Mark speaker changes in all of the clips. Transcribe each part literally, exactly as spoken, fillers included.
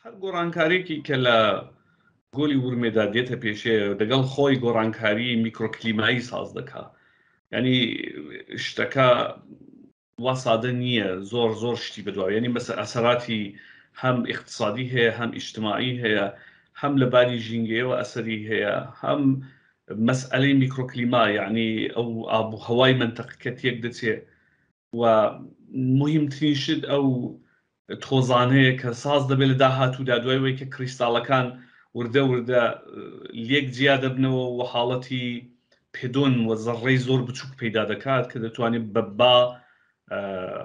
Speaker 1: هەر گۆڕانکاریەکی کە لە گۆلی ورمێدا دێتە پێشێ دەگەڵ خۆی گۆڕانکاری میکرۆکلیمایی ساز دەکا. یعنی شتەکە وا سادە نییە، زۆر زۆر شتی بەدواوە. یعنی مەسە ئەسەراتی هەم ئیقتصادی هەیە، هەم ئیجتماعی هەیە، هەم لە باری ژینگەیەوە ئەسەری هەیە، هەم مەسئلەی میکرۆکلیما، یعنی ئەو ئاب و هەوای مەنتەقەکە تێک دەچێ و مهمترین شت ئەو تۆزانەیە کە ساز دەبێت لە داهاتوودا دوای وەی کە کریستاڵەکان وردە وردە لێک جیا دەبنەوە و حاڵەتی پێدۆن و زەڕەی زۆر بچووک پەیدا دەکات کە دەتوانێت بە با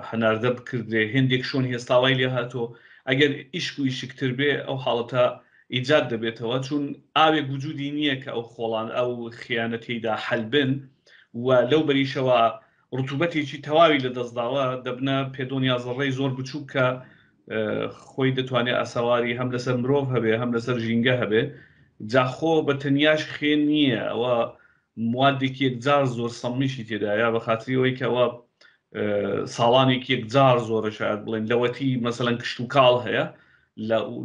Speaker 1: هەناردە بکردرێ. هێندێک شۆن هێستاوای لێ هاتۆ ئەگەر ئیشک و ئیشکتر بێ ئەو حاڵەتە ئیجاد دەبێتەوە، چون ئاوێک وجودی نییە کە ئەو خۆڵان ئەو خیانەتەیدا حەل بن و لەو بەریشەوە ڕتوبەتێکی تەواوی لەدەستداوە، دەبنە پێدۆنیا زەڕەی زۆر بچووک کە خۆی دەتوانێت ئاسەواری هەم لەسەر مرۆڤ هەبێ هەم لەسەر ژینگە هەبێ. جاخۆ بە تەنیاش خوێن نییە، ئەوە موادێکی یەکجار زۆر سەممیشی تێدایە بە خاتری ئەوەی کە ئەوە ساڵانێکی یەکجار زۆرە شاید بڵێن لەوەتی مەسەلەن کشتوکاڵ هەیە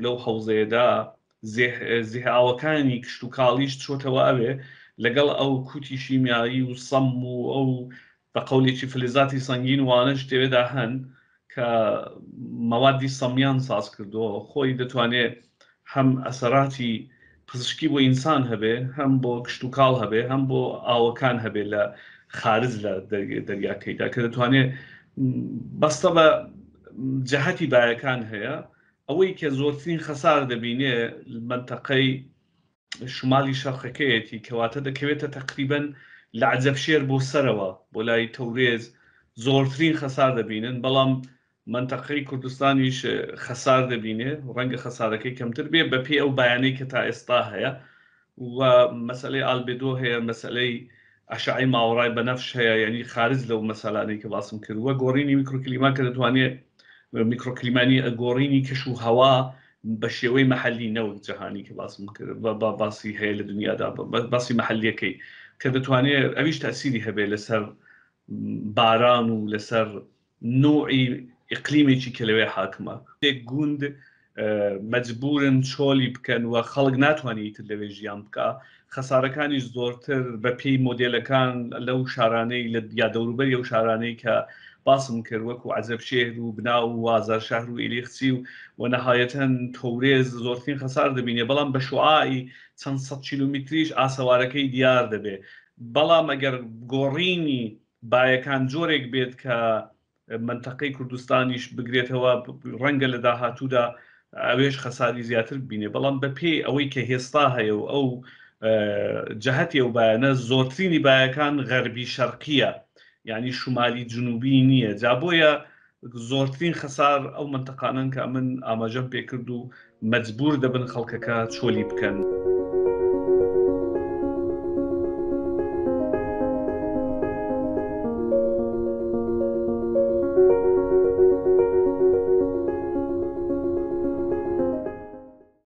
Speaker 1: لەو حەوزەیەدا زێهاوەکانی کشتوکاڵیش چۆتەوە ئەوێ لەگەڵ ئەو کوتی شیمیایی و سەم و ئەو بە قەولێکی فلزاتی سەنگین وانەش تێوێدا هەن کە مەوادی سەمیان ساز کردووە. خۆی دەتوانێت هەم ئەسەراتی پزیشکی بۆ ئینسان هەبێ، هەم بۆ کشتوکاڵ هەبێ، هەم بۆ ئاوەکان هەبێ لە خارج لە دەریاکەیدا کە دەتوانێت بەستە بە جەهەتی بایەکان هەیە. ئەوەی کە زۆرترین خەسار دەبینێ منتەقەی شمالی شەرقەکەیەتی کەواتە دەکەوێتە تقریبا لە عەجەبشێر بۆ سەرەوە بۆ لای تەورێز زۆرترین خەسار دەبینن، بەڵام منتەقەی کوردستانیش خەسار دەبینێ، ڕەنگە خەسارەکەی کەمتر بێ بەپێی ئەو بایانەی کە تا ئێستا هەیە. و مەسئلەی ئالبێدۆ هەیە، مەسئلەی ئەشعەی ماوەڕای بەنەفش هەیە، یعنی خارج لەو مەسەلانەی کە باسم کرد. وە گۆڕینی میکرۆکلیما کە دەتوانێت میکرۆکلیمانی گۆڕینی کەش و هەوا بە شێوەی محەلی نەوەک جەهانی کە باسم کرد باسی هەیە لە دنیادا، باسی محەلیەکەی کە دەتوانێت ئەویش تەسیری هەبێت لەسەر باران و لەسەر نوعی ئیقلیمێکی کە لەوێ حاکمە. گوند مەجبورن چۆلی بکەن و خەڵک ناتوانێت ئیتر لەوێ ژیان بکە. خەسارەکانیش زۆرتر بە پێی مۆدێلەکان لەو شارانەی یا دەوروبەری ئەو شارانەی کە باسم کرد وەکو عەجەبشێهر و بناو و ئازارشەهر و ئیلیخچی و و نەهایەتەن تەورێز زۆرترین خەسار دەبینێ، بەڵام بە شوعاعی چەند سەد کیلۆمەتریش ئاسەوارەکەی دیار دەبێ. بەڵام ئەگەر گۆڕینی بایەکان جۆرێک بێت کە منتەقەی کوردستانیش بگرێتەوە، ڕەنگە لە داهاتوودا ئەوێش خەساری زیاتر ببینێ. بەڵام بەپێی ئەوەی کە هێستا هەیە و ئەو جەهەتی ئەو بایەنە، زۆرترینی بایەکان غەربی شەرقیە، یعنی شمالی جنوبی نییە. جا بۆیە زۆرترین خەسار ئەو منتەقانەن کە من ئاماژەم پێکرد و مەجبور دەبن خەڵکەکە چۆلی بکەن.